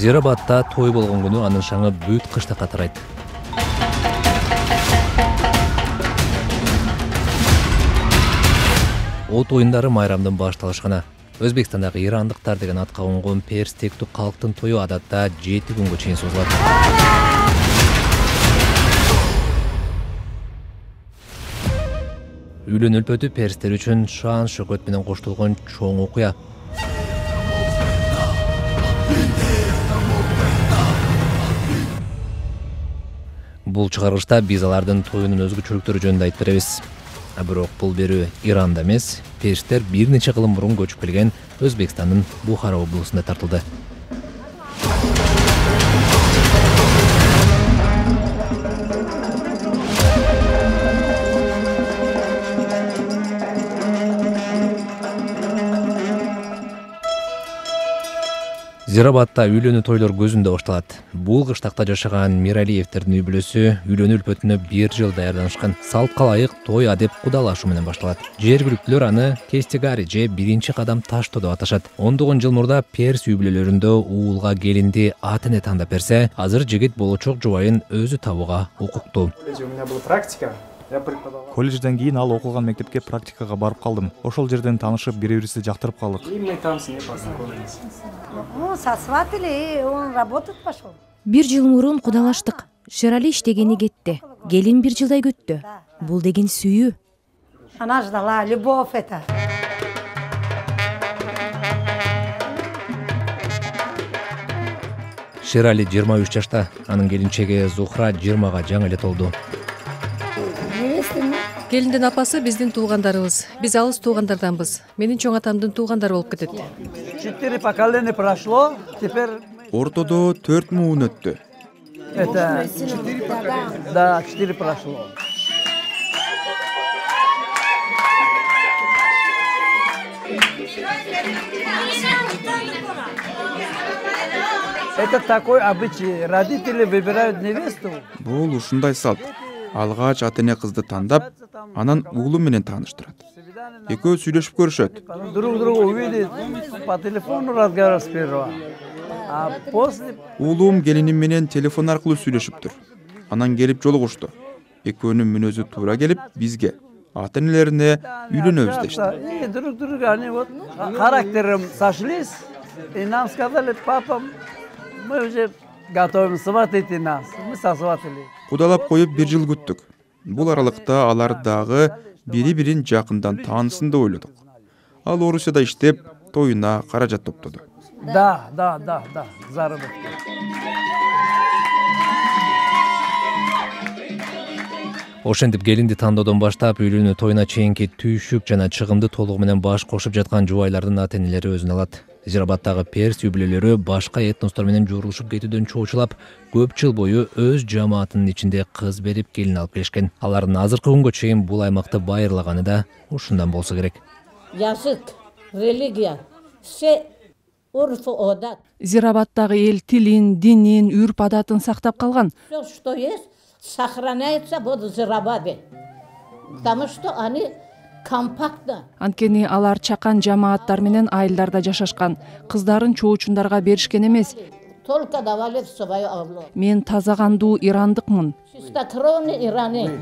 Зирабадта той болгон күнү анын шаңы бүт кыштакка тарайт. От оюндары майрамдын башталышканы. Өзбекстандагы ирандыктар деген атка конгон перстектүү калктын тою адатта 7 күнгө чейин созулат. Үйлөн өлпөтү перстер үчүн шаан шөкөт менен коштолгон чоң окуя. Бул чыгарылышта биз алардын тоюнун өзгөчөлүктөрү жөнүндө айтып беребиз. Бирок бул берүү Иранда эмес, перстер бир нече кылым мурун көчүп келген Өзбекстандын Бухара облусунда тартылды. Зирабадта үйлөнүү тойлор көзүндө башталат. Бул кыштакта жашаган Миралиевтердин үй бүлөсү үйлөнүү өлпөтүнө 1 жыл даярданышкан. Салтка ылайык той адеп кудалашуу менен башталат. Жергиликтүүлөр аны кестегари же биринчи кадам таштоо деп аташат. Ондогон жыл мурда перс үй бүлөлөрүндө уулга келинди ата-эне тандап берсе, азыр жигит болочок жубайын өзү табууга укуктуу. У меня была практика. Колледжден кийин ал окуган мектепке практикага барып калдым. Ошол жерден таанышып, бири-бирибизди жактырып калдык. И мы там с ней познакомились. Сосватали, он работать пошел. 1 жыл мурун кудалаштык. Шерали иштегени кетти. Келин 1 жылдай күттү. Бул деген сүйүү. Она ждала, любовь это. Шерали 23 жашта, анын келинчеги Зухра 20-га жаңы эле толду. Келиндин апасы биздин туугандарыбыз. Биз алыс туугандарданбыз. Менин чоң атамдын туугандары болуп кетет. 4 поколения прошло, теперь ортодо 4 муун өттү. Это 4 прошло. Это такой обычай. Родители выбирают невесту. Бул ушундай салт. Алгач ата-эне кызды тандап, анан уулу менен тааныштырат. Экөө сүйлөшүп көрүшөт. Друг друга увидит, по телефону разговаривать сперва. А после Уулум келиним менен телефон аркылуу сүйлөшүптүр. Анан келип жолугушту. Экөөнүн мүнөзү туура келип, бизге, ата-энелерине үйлөнөбүз дешти. И друг друга они вот характером сошлись, и нам сказали: "Папа, мы уже готовим сватать нас". Мы сосватали. Кудалап коюп 1 жыл күттүк. Бул аралыкта алар дагы бири-бирин жакындан таанысын деп ойлодук. Ал Орусияда иштеп, тоюна каражат топтоду. Да, заработки. Ошентип келинди тандоодон баштап үйлөнүү тоюна чейинки түйшүк жана чыгымды толугу менен баш кошуп жаткан жубайлардын ата-энелери өзүн алат. Зирабадтагы перс үй бүлөлөрү башка этностор менен журулушуп кетүүдөн чоочулап, көп жыл бою өз жамаатынын ичинде кыз берип келин алып келишкен. Алардын азыркы күнгө чейин бул аймакты байырлаганы да ушундан болсо керек. Язык, религия, все урф одат. Зирабадтагы эл тилин, динин, үрп адатын сактап калган. Все, что есть, сохраняется в Зирабаде. Потому что они компактно. Анткени алар чакан жамааттар менен айылдарда жашашкан. Кыздарын чоочундарга беришкен эмес. Только давали в свою авлу. Мен таза кандуу ирандыкмын. Чистокровный ираны.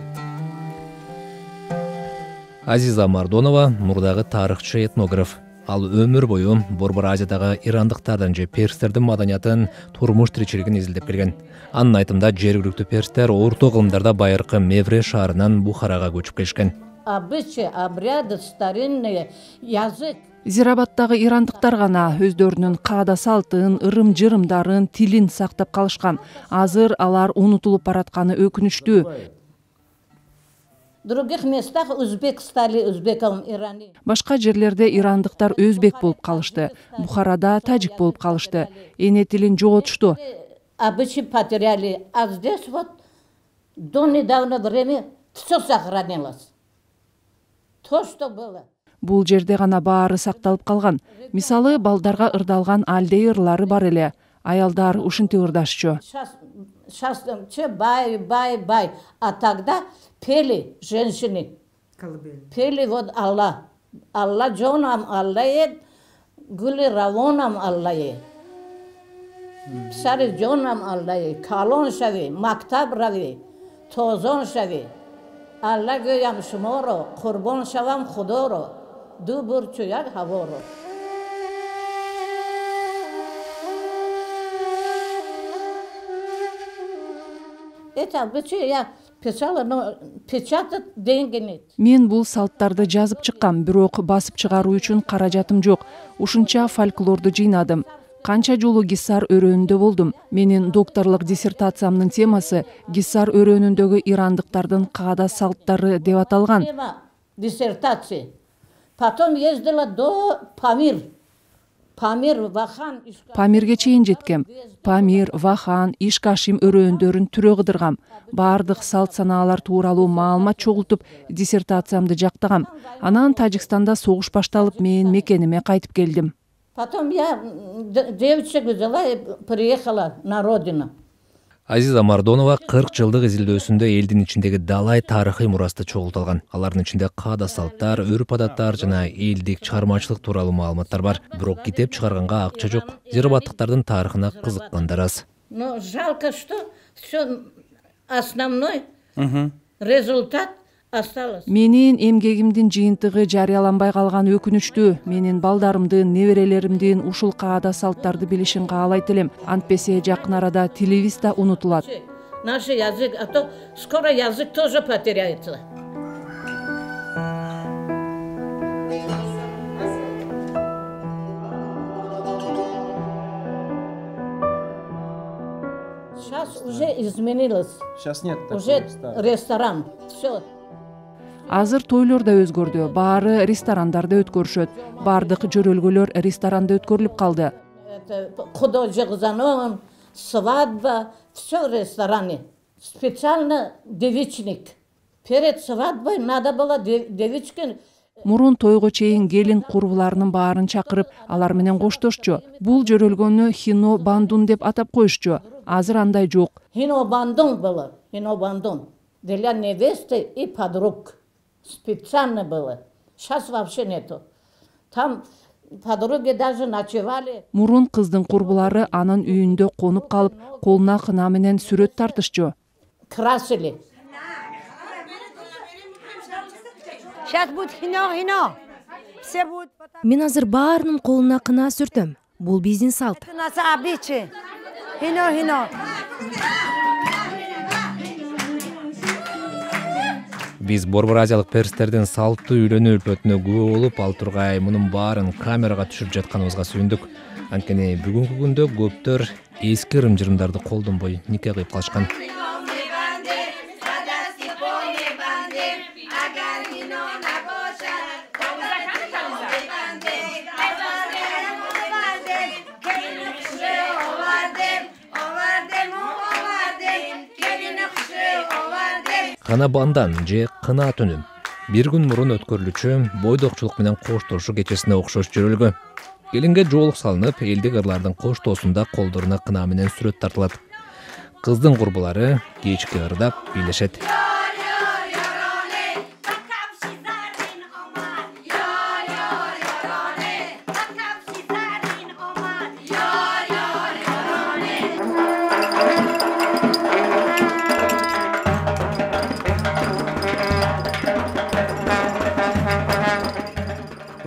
Азиза Мардонова мурдагы тарыхчы этнограф. Ал өмүр бою Борбор Азиядагы ирандыктардын же перстердин маданиятын, турмуш тиричилигин изилдеп келген. Анын айтымында жергиликтүү перстер орто кылымдарда байыркы Мевре шаарынан Бухарага көчүп келишкен. Обычаи, обряды, старинные, язык. Зирабадтагы ирандыктар гана өздөрүнүн каада салтын, ырым-жырымдарын, тилин сактап калышкан. Азыр алар унутулуп баратканы өкүнүчтүү. В других местах узбек стали узбеком ираны. Башка жерлерде ирандыктар өзбек болуп калышты. Бухарада тажик болуп калышты. Эне тилин жоготушту. Обычаи потеряли, а здесь вот до недавнего времени все сохранилось. То, что было. Бул жерде гана баары сакталып калган. Мисалы, балдарга ырдалган алдей ырлары бар эле. Аялдар ушинтип ырдашчу. Сейчас бай. А тогда пели женщины. Пели вот Аллах. Аллах джонам Аллах, гули равонам Аллах. Писали жонам Аллах, калон шави, мактаб рави, тозон шави. Алла гӯям шуморо, қурбон шавам худоро, ду бурчу як ҳаворо. Это я писала, но печатать деньги нет. Мен бул салттарды жазып чыккам, бирок басып чыгаруу үчүн каражатым жок. Ушунча фольклорду жыйнадым. Канча жолу гиссар өрөөнүндө болдум. Менин докторлук диссертациямдын темасы гиссар өрөөнүндөгү ирандыктардын каада салттары деп аталган. Диссертация. Потом ездила до Памир. Памир, Вахан, Памирге чейин жеткем. Памир, Вахан, Ишкашим өрөөндөрүн түрө кыдыргам. Бардык салт санаалар тууралуу маалымат чогултуп, диссертациямды жактагам. Анан Тажикстанда согуш башталып, мен мекениме кайтып келдим. Потом я девочек взяла и приехала на родину. Азиза Мардонова 40 жылдык изилдөөсүндө элдин ичиндеги далай тарыхый мурасты чогулталган. Алардын ичинде каада салттар, өрп-адаттар жана элдик чыгармачылык тууралуу маалыматтар бар. Бирок китеп чыгарганга акча жок. Зирабаттыктардын тарыхына кызыккандар аз. Но жалко, что все основной результат осталось. Менин эмгегимдин жыйынтыгы жарыяланбай калган өкүнүчтүү. Менин балдарымдын, неберелеримдин ушул каада салттарды билишин каалайт элем. Антпесе жакын арада тилибиз да унутулат. Наш язык, а то скоро язык тоже потеряется. Сейчас уже изменилось. Сейчас нет. Уже ресторан. Все. Азыр тойлор да өзгөрдү. Баары ресторандарда өткөрүшөт. Бардык жөрөлгөлөр ресторанда өткөрүлүп калды. Художник занон, свадьба, все в ресторане. Специально девичник. Перед свадьбой надо было девички. Мурун тойго чейин келин курбуларынын баарын чакырып, алар менен коштошчу. Бул жөрөлгөнү хино бандун деп атап коюшчу. Азыр андай жок. Хино бандун было, хино бандун. Для невесты и подруг. Специально было. Сейчас вообще нету. Там подруги даже ночевали. Мурун кыздын курбулары анын үйүндө конуп калып, колуна кына менен сүрөт тартышчу. Красили. Сейчас будет хино. Все будут... Мен азыр баарынын колуна кына сүртөм. Бул биздин салт. Это нас обычай. Хино. Биз Борбор Азиялык перстердин салттуу үйлөнүү үлпөтүнө күбө болуп, ал тургай мунун баарын камерага түшүрүп жатканыбызга сүйүндүк. Анткени бүгүнкү күндө көптөр эски ырым-жырымдарды колдонбой нике кыйып калышкан. Кана бандан же кына түнү. Бир күн мурун өткөрүлүчү бойдокчулук менен коштошуу кечесине окшош жөрөлгө. Келинге жоолук салынып, элдик ырлардын коштоосунда колдоруна кына менен сүрөт тартылат. Кыздын курбулары кечки ырдап бийлешет.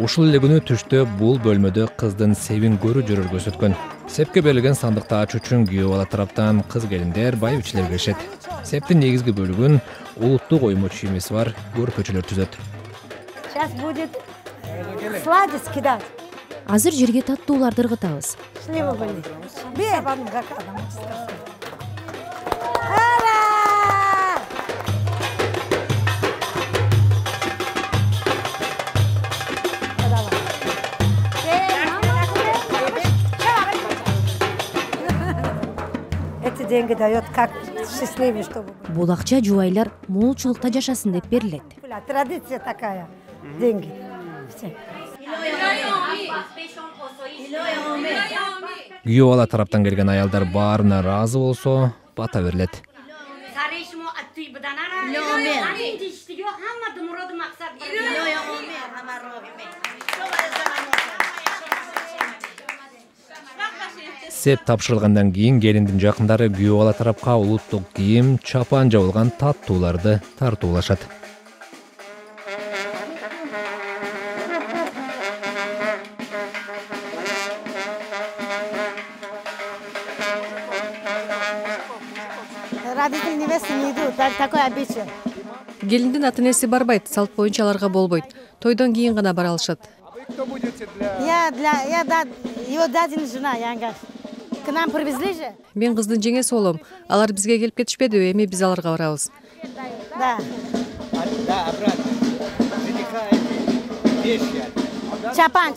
Ушул эле күнү түштө бул бөлмөдө кыздын себин көрүү жөрөлгөсү өткөн. Сепке берилген сандыкты ачуу үчүн күйөө бала тараптан кыз келиндер, байбичилер келишет. Септин негизги бөлүгүн улуттук оймо чиймеси бар көрпөчөлөр түзөт. Сейчас будет сладость кидать. Азыр жерге таттууларды ыргытабыз. Сливы были. Деньги дает, как счастливый, чтобы... Бул акча жубайлар молчулукта жашасын деп берилет. Традиция такая. Деньги. Күйөө бала тараптан келген аялдар баарына ыраазы болсо, бата берилет. Сеп тапшырылгандан кийин келиндин жакындары күйөө бала тарапка улуттук кийим, чапан жабылган таттууларды тартуулашат. Родители невесты не идут, такой обычай. Келиндин ата-энеси барбайт, салт боюнча аларга болбойт. Тойдон кийин гана бара алышат. Я его дядина жена, Янгаш. К нам привезли же? Мен кыздын жеңеси болом. Алар бизге келип кетишпедиби? Эми биз аларга барабыз. Да. Чапан.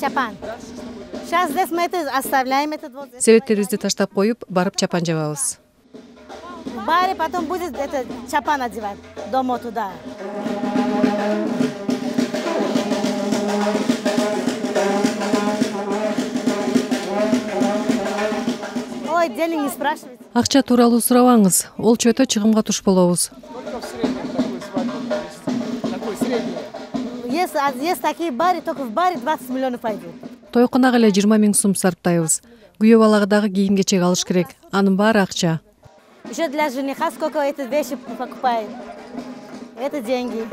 Сейчас здесь мы это оставляем, этот вот. Себеттерибизди таштап коюп, барып чапан жабабыз. В баре потом будет это чапан одевать дома туда. Ой, денег не спрашивайте. Акча тууралуу сурабаңыз. Ол чөтө чыгымга туш болобуз. Есть такие бары, только в баре 20 миллионов пойдут. Тойкунага эле 20 000 сум сарптайбыз. Күйөө балага дагы кийим кечек алыш керек. Анын баары акча. Еще для жениха сколько эти вещи покупает. Это деньги.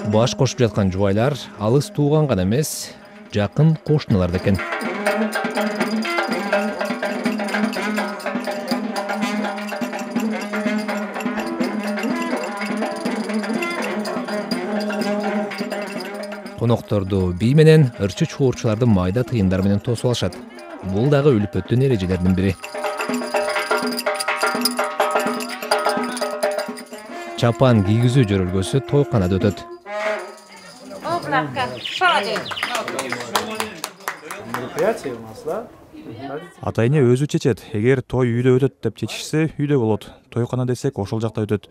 Баш кошуп жаткан жубайлар алыс тууган гана эмес, жакын кошуналар да экен. Конокторду бий менен ырчы чуурчуларды майда тыйындар менен тосуп алышат. Бул дагы үлпөттүн эрежелеринин бири. Чапан кийгизүү жөрөлгөсү тойканада өтөт. Мероприятие у нас, да? Ата эне өзү чечет. Эгер той үйдө өтөт деп чечишсе, үйдө болот. Тойкана десек, ошол жакта өтөт.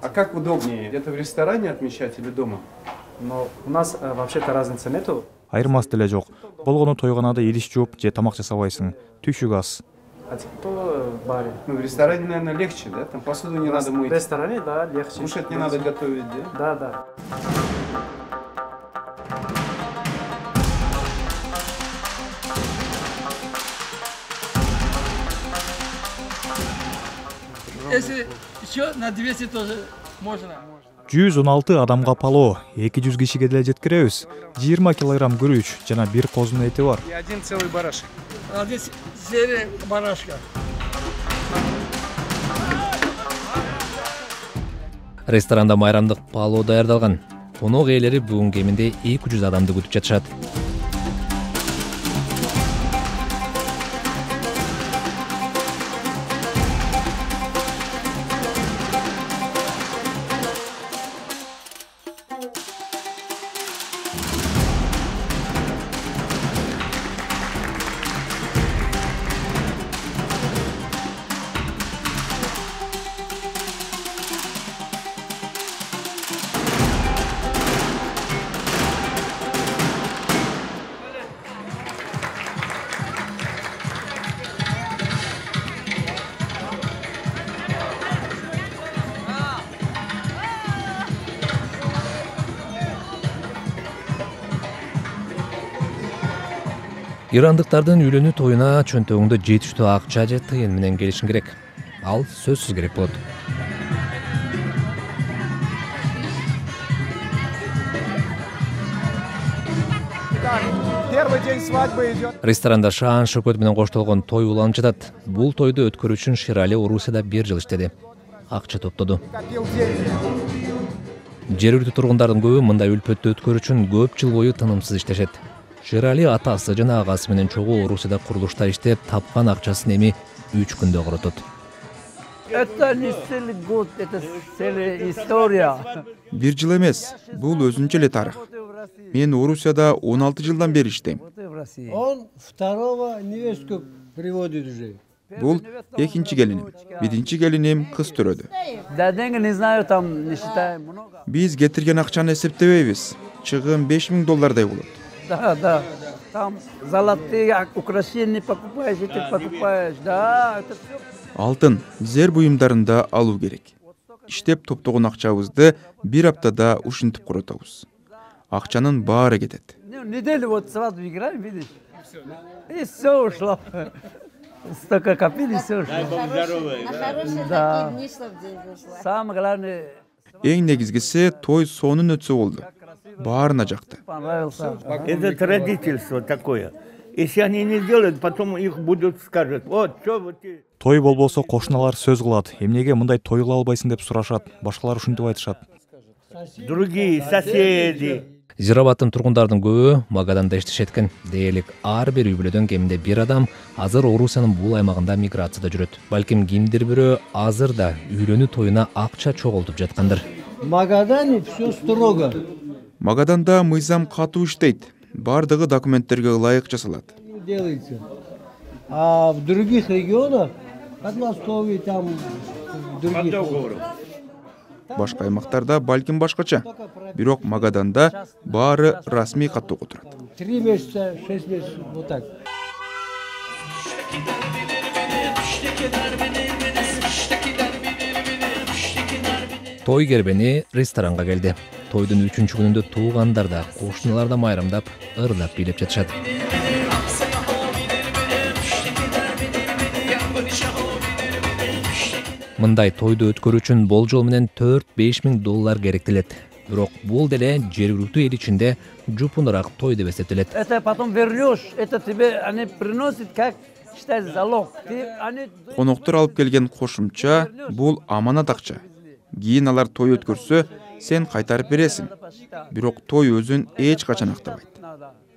А как удобнее? Где-то в ресторане отмечать или дома? Но у нас вообще-то разницы нету. Айырмасы деле жок. Болгону тойканада идиш жууп же тамак жасабайсың. Түшүк аз. А то в баре. Ну, в ресторане, наверное, легче, да? Там посуду не надо мыть. В ресторане, да, легче. Кушать не надо готовить, да? Да. Если еще на 200 тоже можно. 116 адамга пало, 200 кишиге деле жеткиребиз. 20 килограмм күрүч жана бир козунун эти бар. И один целый барашек. Один серия барашка. Ресторанда майрамдык пало даярдалган. Конок ээлери бүгүн кеминде 200 адамды күтүп жатышат. Ирандыктардын үйлөнүү тоюна чөнтөгүңдө жетиштүү акча же тыйын менен келишиң керек. Ал сөзсүз керек болот. Ресторанда шаан шөкөт менен коштолгон той уланып жатат. Бул тойду өткөрүү үчүн Ширали Орусияда 1 жыл иштеди. Акча топтоду. Жергиликтүү тургундардын көбү мындай үлпөттү өткөрүү үчүн көп жыл бою тынымсыз иштешет. Ширали атасы жана агасы менен чогуу Орусияда курулушта иштеп, тапкан акчасын эми 3 күндө коротот. Это не целый год, это целая история. 1 жыл эмес, бул өзүнчө эле тарых. Мен Орусияда 16 жылдан бери иштейм. Он второго невестку приводит уже. Бул экинчи келиним. Биринчи келиним кыз төрөдү. Да деньги не знаю, там не считаем много. Биз кетирген акчаны эсептебейбиз. Чыгым $5000 болот. Да. Там золотые украшения покупаешь, эти покупаешь. Да, это все. Алтын, зер буюмдарын да алуу керек. иштеп топтогон акчабызды бир аптада ушинтип коротобуз. Акчанын баары кетет. Неделю вот сразу играем, видишь? И все ушло. Столько копили, все ушло. Да. Самое главное... Эң негизгиси той сонун өтсө болду. Баарына жакты. Это традиция такое. Если они не сделают, потом их будут скажут, вот, что вы... Той болбосо кошуналар сөз кылат. Эмнеге мындай той кыла албайсың деп сурашат. Башкалар ушинтип айтышат. Другие соседи. Зирабаттын тургундардын көбү Магаданда иштешет экен. Дээрлик ар бир үй бүлөдөн кеминде бир адам азыр Орусиянын бул аймагында миграцияда жүрөт. Балким кимдир бирөө азыр да үйлөнүү тоюна акча чогултуп жаткандыр. В Магадане все строго. Магаданда мыйзам катуу иштейт. Бардыгы документтерге ылайык жасалат. Делается. А в других регионах, Подмосковье, там, в других... Башка аймактарда балким башкача. Бирок Магаданда баары расмий каттоого турат. 3 месяца, 6 месяцев, вот так. Той кербени ресторанга келди. Тойдун 3-чү күнүндө туугандар да, кошуналар да майрамдап, ырлап бийлеп жатышат. Мындай тойду өткөрүү үчүн болжол менен $4-5 миң керектелет. Бирок бул деле жергиликтүү эл ичинде жупунураак той деп эсептелет. Это потом вернешь, это тебе они приносят как считай залог. Коноктор алып келген кошумча бул аманат акча. Кийин алар той өткөрсө, сен кайтарып бересиң. Бирок той өзүн эч качан актабайт.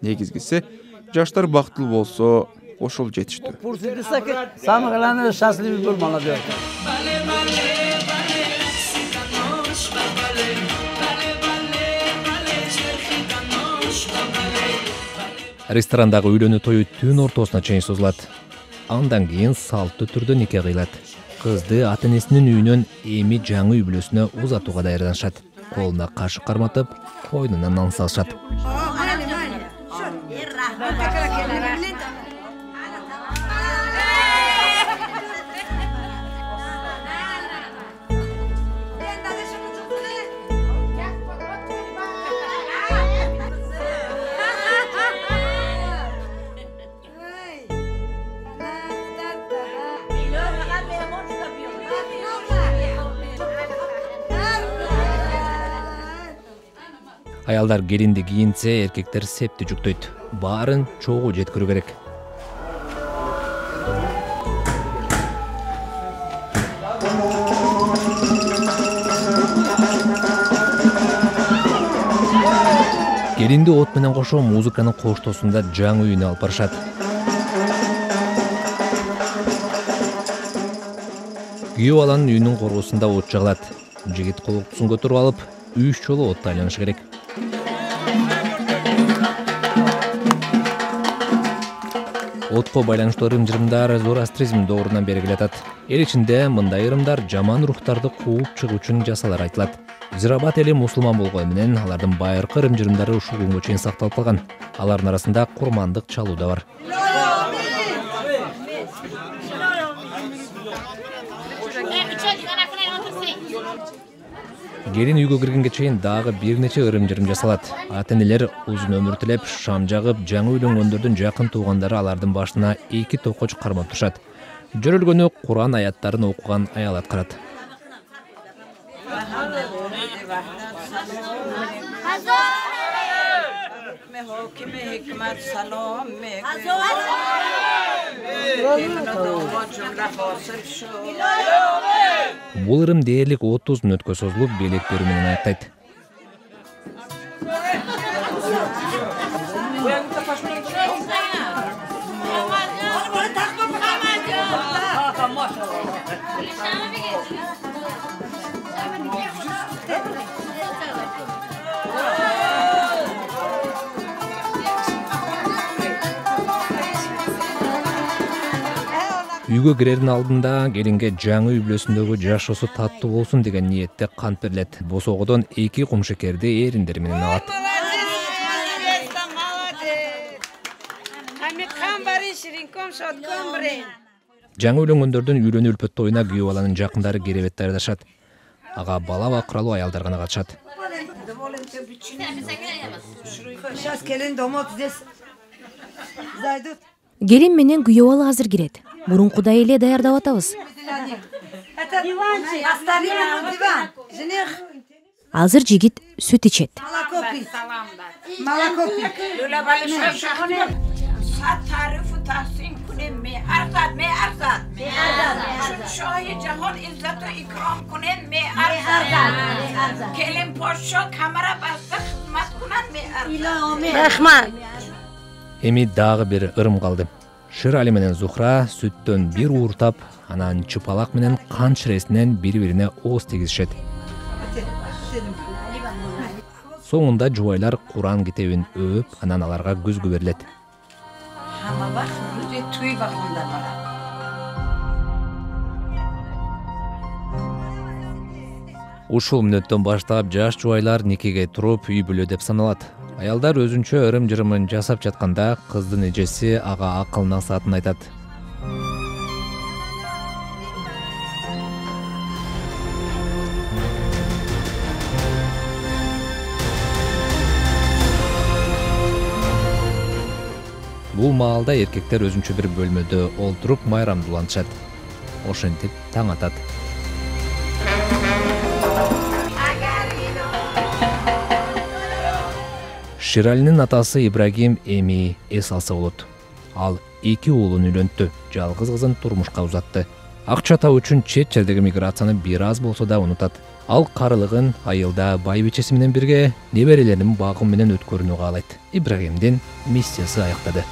Негизгиси жаштар бактылуу болсо, ошол жетиштүү. Самое главное, счастливый был молодой. Ресторандагы үйлөнүү тою түн ортосуна чейин созулат. Андан кийин салттуу түрдө нике кыйлат. Кызды ата-энесинин үйүнөн эми жаңы үй бүлөсүнө узатууга даярданышат. Колуна кашык карматып, койнуна нан салышат. Аялдар келинди кийинсе, эркектер септи жүктөйт. Баарын чогуу жеткирүү керек. Келинди от менен кошо музыканын коштоосунда жаңы үйүнө алып барышат. Күйөө баланын үйүнүн коргосунда от жагылат. Жигит колоктусун көтөрүп алып, 3 жолу отто айланышы керек. Отко байланыштуу ырым-жырымдар зороастризм доорунан бери келатат. Эл ичинде мындай ырымдар жаман рухтарды кууп чыгуу үчүн жасалар айтылат. Зирабат эли мусулман болгону менен алардын байыркы ырым-жырымдары ушул күнгө чейин сакталып калган. Алардын арасында курмандык чалуу да бар. Келин үйгө киргенге чейин дагы бир нече ырым-жырым жасалат. Ата-энелер узун өмүр тилеп, шам жагып, жаңы үйлөнгөндөрдүн жакын туугандары алардын башына 2 токоч кармап турушат. Жөрөлгөнү Куран аяттарын окуган аял аткарат. Бул ырым дээрлик 30 мүнөткө созулуп, белек берүү менен аяктайт. Үйгө кирердин алдында келинге жаңы үй бүлөсүндөгү жашоосу таттуу болсун деген ниетте кант берилет. Босоогодон 2 кумшекерди эриндери менен алат. Жаңы үйлөнгөндөрдүн үйлөнүү үлпөт тоюна күйөө баланын жакындары керебет даярдашат. ага бала бакыралуу аялдар гана катышат. Сейчас келин домой здесь зайдут. Келин менен күйөө бала азыр кирет. Мурункудай эле даярдап атабыз. Это диванчик, оставим ему диван. Жених. Азыр жигит сүт ичет. Молоко пить. Молоко пить. تعرف تحسین کنیم می ارزد شاه جهان عزت و اکرام کنیم می ارزد کلیم پاشا کمره بسته خدمت کنن می ارزد. Эми дагы бир ырым калды. Ширали менен Зухра сүттөн бир ууртап, анан чыпалак менен кан ширесинен бири-бирине ооз тийгизишет. Соңунда жубайлар Куран китебин өөп, анан аларга көзгө берилет. Hamma vaqt ro'za to'y vaqtida boradi. Ушул мүнөттөн баштап жаш жубайлар никеге туруп үй бүлө деп саналат. Аялдар өзүнчө ырым-жырымын жасап жатканда кыздын эжеси ага акыл насаатын айтат. Бул маалда эркектер өзүнчө бир бөлмөдө олтуруп майрамдууланышат. Ошентип таң атат. Ширалинин атасы Ибрагим эми эс алса болот. Ал 2 уулун үйлөнттү, жалгыз кызын турмушка узатты. Акча табуу үчүн чет жердеги миграцияны бир аз болсо да унутат. Ал карылыгын айылда байбичеси менен бирге неберелеринин багым менен өткөрүүнү каалайт. Ибрагимдин миссиясы аяктады.